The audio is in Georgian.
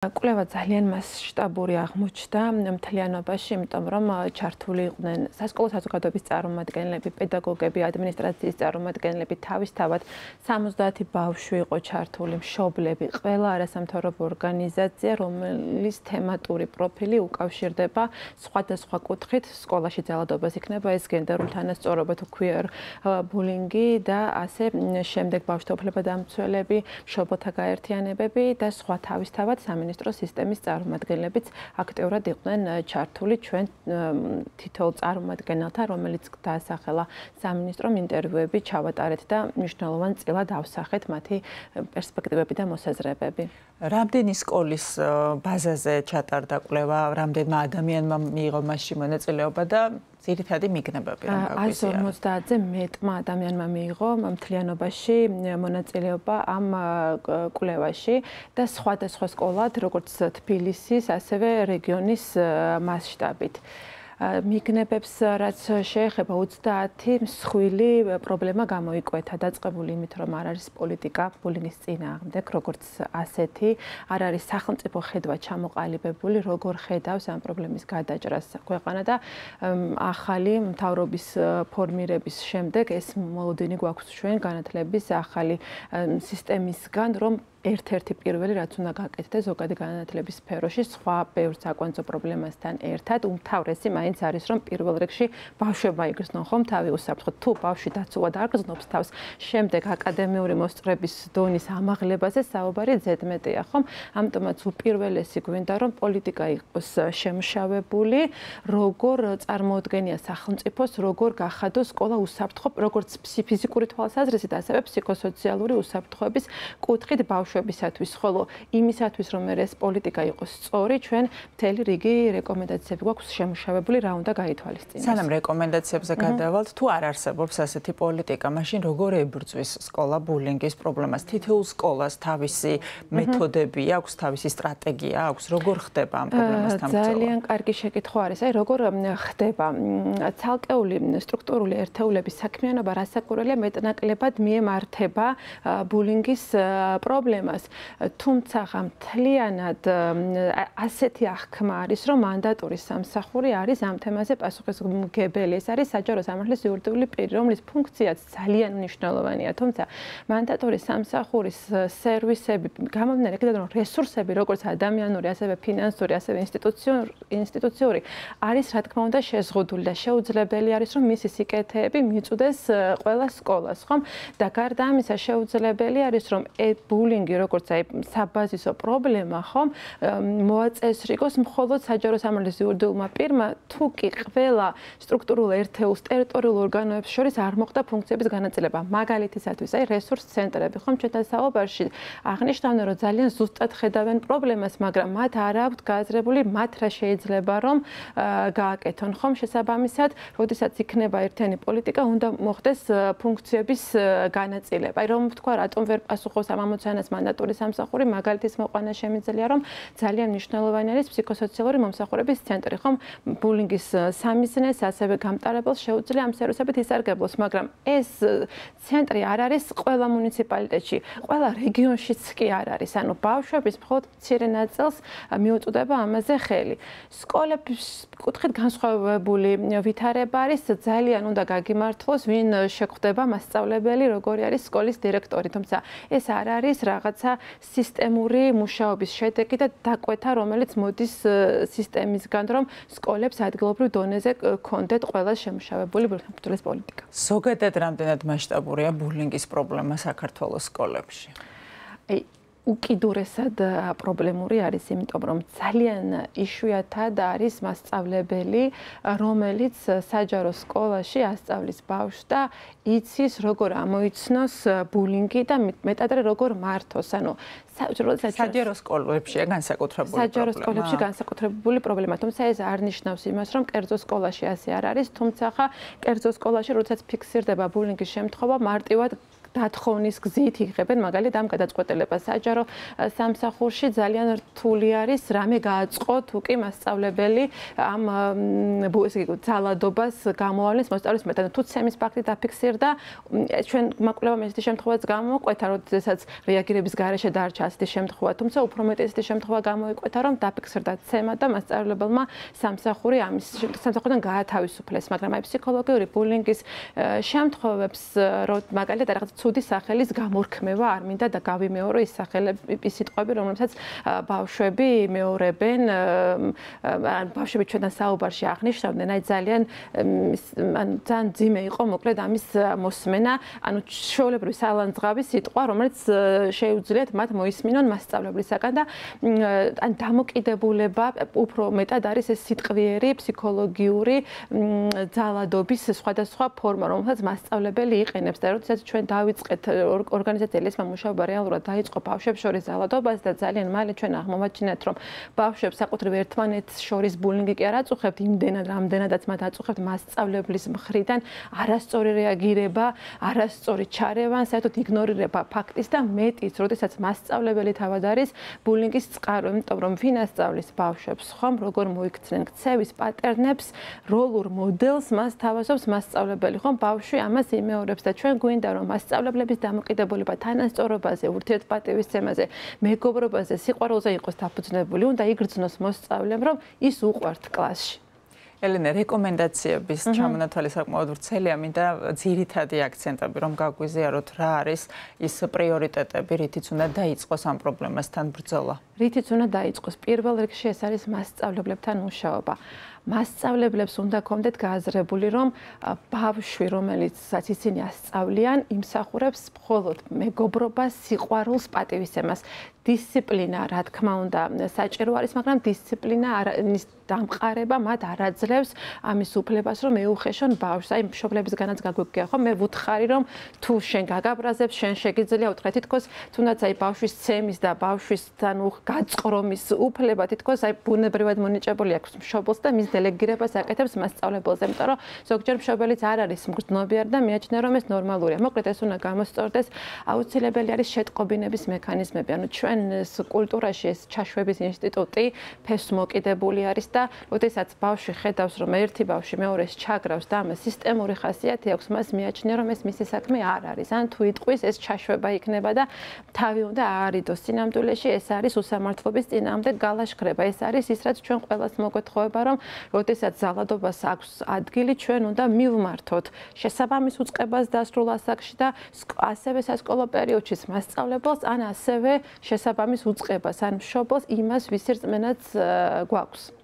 კვლევა ძალიან მასშტაბური აღმოჩნდა მთლიანობაში, იმიტომ რომ ჩართული იყვნენ სასკოლო საზოგადოების წარმომადგენლები, პედაგოგები, ადმინისტრაციის წარმომადგენლები, თავისთავად 70 ბავშვი იყო ჩართული, მშობლები, ყველა არასამთავრობო ორგანიზაცია, რომლის თემატური პროფილი უკავშირდება სხვადასხვა კუთხით სკოლაში ძალადობას იქნება ეს გენდერული თანასწორობა თუ queer bullying და ასე შემდეგ ბავშვთა უფლებადამცველები, მშობელთა გაერთიანებები და სხვა თავისთავად სამინისტროს სისტემის წარმომადგენლებიც აქტიურად იყვნენ ჩართული ჩვენ თითოეულ წარმომადგენელთან, რომელიც დაასახელა სამინისტრომ ინტერვიუები ჩავატარეთ და მნიშვნელოვან წილად ავსახეთ მათი პერსპექტივები და მოსაზრებები. რამდენი სკოლის ბაზაზე ჩატარდა კვლევა, რამდენმა ადამიანმა მიიღო მასში მონაწილეობა და ძირითადი მიგნებები რომ გაგვიზიაროთ. 150-ზე მეტმა ადამიანმა მიიღო მთლიანობაში მონაწილეობა ამ კვლევაში და სხვადასხვა სკოლად, როგორც თბილისის, ასევე რეგიონის მასშტაბით. მიგნებებს რაც შეეხება 30 მსხვილი პრობლემა გამოიკვეთა, დაწყებული იმით, რომ არ არის პოლიტიკა ბულინგის წინააღმდეგ, როგორც ასეთი, არ არის სახელმწიფო ხედვა ჩამოყალიბებული, როგორ ხედავს ამ პრობლემის გადაჭრას ქვეყანა და ახალი მთავრობის ფორმირების შემდეგ ეს მოლოდინი გვაქვს ჩვენ განათლების ახალი სისტემისგან, რომ ერთ-ერთი პირველი რაც უნდა გაკეთდეს ზოგადი განათლების სფეროში სხვა ბევრ საკვანძო პრობლემასთან ერთად უმთავრესი მაინც არის რომ პირველ რიგში ბავშვებმა იგრძნონ ხომ თავი უსაფრთხოდ თუ ბავშვი დაცულად არ გრძნობს თავს შემდეგ აკადემიური მოსწრების დონის ამაღლებაზე საუბარი ზედმეტია ხომ ამიტომაც უპირველესი გვინდა რომ პოლიტიკა იყოს შემშავებული როგორ წარმოუდგენია სახელმწიფოს როგორ გახადოს სკოლა უსაფრთხო როგორც ფიზიკური თვალსაზრისით ასევე ფსიქოსოციალური უსაფრთხოების კუთხით ბავშვებისათვის, ხოლო იმისათვის, რომ ეს პოლიტიკა იყოს სწორი, ჩვენ მთელი რიგი რეკომენდაციები გვაქვს შემუშავებული, რა უნდა გაითვალისწინოს. სანამ რეკომენდაციებზე გადავალთ, თუ არ არსებობს ასეთი პოლიტიკა, მაშინ როგორ ებრძვის სკოლა ბულინგის პრობლემას? თითოეულ სკოლას თავისი მეთოდები აქვს, თავისი სტრატეგია აქვს, როგორ ხდება ამ პრობლემასთან ბრძოლა? ძალიან კარგი შეკითხვა არის. აი, როგორ ხდება? ცალკეული სტრუქტურული ერთეულების საქმიანობა რასაკვირველია მეტნაკლებად მიემართება ბულინგის პრობლემას. თუმცა მთლიანად ასეთი აღქმა არის, რომ მანდატური სამსახური არის ამ თემაზე პასუხისმგებელი. ეს არის საჯარო სამართლის იურიდიული პირი, რომლის ფუნქციაც ძალიან მნიშვნელოვანია. თუმცა მანდატური სამსახურის სერვისები, გამომდინარე იქიდან, რომ რესურსები, როგორც ადამიანური, ასევე ფინანსური, ასევე ინსტიტუციური, არის რა თქმა უნდა შეზღუდული და შეუძლებელი არის, რომ მისი სიკეთეები მიწვდეს ყველა სკოლას, ხომ? და გარდა ამისა შეუძლებელი არის, რომ ბულინგი როგორც აი საბაზისო პრობლემა ხომ მოაწესრიგოს მხოლოდ საჯარო სამართლის იურიდიულმა პირმა თუ კი ყველა სტრუქტურულ ერთეულს ტერიტორიულ ორგანოებს შორის არ მოხდა ფუნქციების განაწილება მაგალითისათვის აი რესურს ცენტრები ხომ ჩვენთან საუბარში აღნიშნავდნენ რომ ძალიან ზუსტად ხედავენ პრობლემას მაგრამ მათ არ აქვთ გააზრებული მათ რა შეიძლება რომ გააკეთონ ხომ შესაბამისად როდესაც იქნება ერთიანი პოლიტიკა უნდა მოხდეს ფუნქციების განაწილება აი რომ თქვა რატომ ვერ პასუხობს ამ ამოცანას მანდატური სამსახური მაგალითის მოყვანა შემიძლია რომ ძალიან მნიშვნელოვანი არის ფსიქოსოციალური მომსახურების ცენტრი ხომ ბულინგის სამიზნეს ასევე გამტარებელს შეუძლია ამ სერვისებით ისარგებლოს მაგრამ ეს ცენტრი არ არის ყველა მუნიციპალიტეტში ყველა რეგიონშიც კი არ არის ანუ ბავშვების მხოლოდ მცირე ნაწილს მიუწვდება ამაზე ხელი სკოლების კუთხით განსხვავებული ვითარება არის ძალიან უნდა გაგიმართლოს ვინ შეხვდება მასწავლებელი როგორი არის სკოლის დირექტორი თუმცა ეს არ არის რაღაცა სისტემური მუშაობის შედეგი და დაკვეთა, რომელიც მოდის სისტემისგან, რომ სკოლებს ადგილობრივ დონეზე კონდეთ ყველა შემუშავებული ბულინგის პოლიტიკა. ზოგადად რამდენად მასშტაბურია ბულინგის პრობლემა საქართველოს სკოლებში? უკიდურესად პრობლემური არის, იმიტომ რომ ძალიან იშვიათად არის მასწავლებელი, რომელიც საჯარო სკოლაში ასწავლის ბავშვს და იცის როგორ ამოიცნოს ბულინგი და მეტადრე როგორ მართოს. ანუ საჯარო სკოლებში განსაკუთრებული პრობლემა. საჯარო სკოლებში განსაკუთრებული პრობლემა, თუმცა ეს არ ნიშნავს იმას, რომ კერძო სკოლაში ასე არ არის, თუმცა კერძო სკოლაში როდესაც ფიქსირდება ბულინგის შემთხვევა, მარტივად დათხოვნის გზით იღებენ მაგალითად ამ გადაწყვეტილებას. საჯარო სამსახურში ძალიან რთული არის რამე გააწყოთ უკი მასწავლებელი ამ ძალადობას გამოავლის მოსწავლის მეტად. თუ ცემის ფაქტი დაფიქსირდა, ჩვენ მაკვლევამ ესეთი შემთხვევაც გამოიკვეთა, როდესაც რეაგირების გარეშე დარჩა ასეთი შემთხვევა, თუმცა უფრო მეტი ესეთი შემთხვევა გამოიკვეთა, რომ დაფიქსირდა ცემა და მასწავლებელმა სამსახურიდან გაათავისუფლეს, მაგრამ აი ფსიქოლოგიური ბულინგის შემთხვევებს, მაგალითად რაღაც ცუდი სახელის გამორქმევა არ მინდა და გავიმეორო ის სახელები, ის სიტყვები, რომლებსაც ბავშვები მეორებენ, ან ბავშვები ჩვენთან საუბარში აღნიშნავდნენ, აი ძალიან ძიმე იყო მოკლედ ამის მოსმენა, ანუ ჩვეულებრივი სალანძღავი სიტყვა, რომელიც შეუძლიათ მათ მოისმინონ მასწავლებლისაგან და ან დამოკიდებულება უფრო მეტად არის ეს სიტყვიერი ფსიქოლოგიური ძალადობის სხვადასხვა ფორმა, რომელსაც მასწავლებელი იყენებს და როდესაც ჩვენ დავიწყეთ ორგანიზაციას მუშაობა რეალურად დაიწყო ბავშვებს შორის ძალადობას და ძალიან მალე ჩვენ აღმოვაჩინეთ, რომ ბავშვებს საკუთრივ ერთმანეთს შორის ბულინგი კი არ აწუხებთ იმდენად, რამდენადაც მათ აწუხებთ მასწავლებლის მხრიდან არასწორი რეაგირება, არასწორი ჩარევა, საერთოდ იგნორირება ფაქტის და მეტიც, როდესაც მასწავლებელი თავად არის ბულინგის წყარო, იმიტომ რომ ვინ ასწავლის ბავშვებს, ხომ როგორ მოიქცნენ ქცევის პატერნებს, როლურ მოდელს მას თავაზობს მასწავლებელი, ხომ ბავშვი ამას იმეორებს და ჩვენ გვინდა რომ მასწავლებლების დამოკიდებულება თანასწორობაზე, ურთიერთპატივისცემაზე, მეგობრობაზე, სიყვარულზე იყოს დაფუძნებული, უნდა იგრძნოს მოსწავლემ, რომ ის უყვართ კლასში. ელენე, რეკომენდაციების ჩამონათვალი საკმაოდ ვრცელია, მინდა ძირითადი აქცენტები რომ გაგვიზიაროთ, რა არის ის პრიორიტეტები, რითიც უნდა დაიწყოს ამ პრობლემასთან ბრძოლა. რითიც უნდა დაიწყოს? პირველ რიგში ეს არის მასწავლებლებთან მუშაობა. მასწავლებლებს უნდა გქონდეთ გააზრებული, რომ ბავშვი, რომელიცაც ისინი ასწავლიან, იმსახურებს მხოლოდ მეგობრობას, სიყვარულს, პატივისცემას. დისციპლინა, რა თქმა უნდა, საჭირო არის, მაგრამ დისციპლინა დამყარება მათ არ აძლევს ამის უფლებას, რომ ეუხეშონ ბავშვს. აი, მშობლებისგანაც გაგვიგია, ხო? მე ვუთხარი, რომ თუ შენ გაგაბრაზებს, შენ შეგიძლია უთხრა თითქოს, თუნდაც აი ბავშვის ცემის და ბავშვის გაწყრომის უფლება თითქოს აი ბუნებრივად მონიჭებული აქვს მშობელს და მის დელეგირებას აკეთებს მასწავლებელზე, იმიტომ რომ ზოგჯერ მშობელიც არ არის მგრძნობიარე და მიაჩნია, რომ ეს ნორმალურია. მოკლედ ეს უნდა გამოსწორდეს, აუცილებელი არის შეტყობინების მექანიზმები. ანუ ჩვენს კულტურაში ეს ჩაშვების ინსტიტუტი ფესვ მოკიდებული არის და როდესაც ბავშვი ხედავს, რომ ერთი ბავშვი მეორეს ჩაგრავს და ამას სისტემური ხასიათი აქვს, მას მიაჩნია, რომ ეს მისი საქმე არ არის. ან თუ იტყვის, ეს ჩაშვება იქნება და თავი უნდა აარიდოს. სინამდვილეში ეს არის უსამართლობის წინააღმდეგ გალაშქრება. ეს არის ის, რაც ჩვენ ყველას მოგვეთხოვება, რომ როდესაც ძალადობას აქვს ადგილი, ჩვენ უნდა მივმართოთ შესაბამის უწყებას დასრულ ასაკში და ასევე სასკოლო პერიოდში მასწავლებელს, ან ასევე შესაბამის უწყებას, ან მშობელს იმას, ვისი რწმენაც გვაქვს.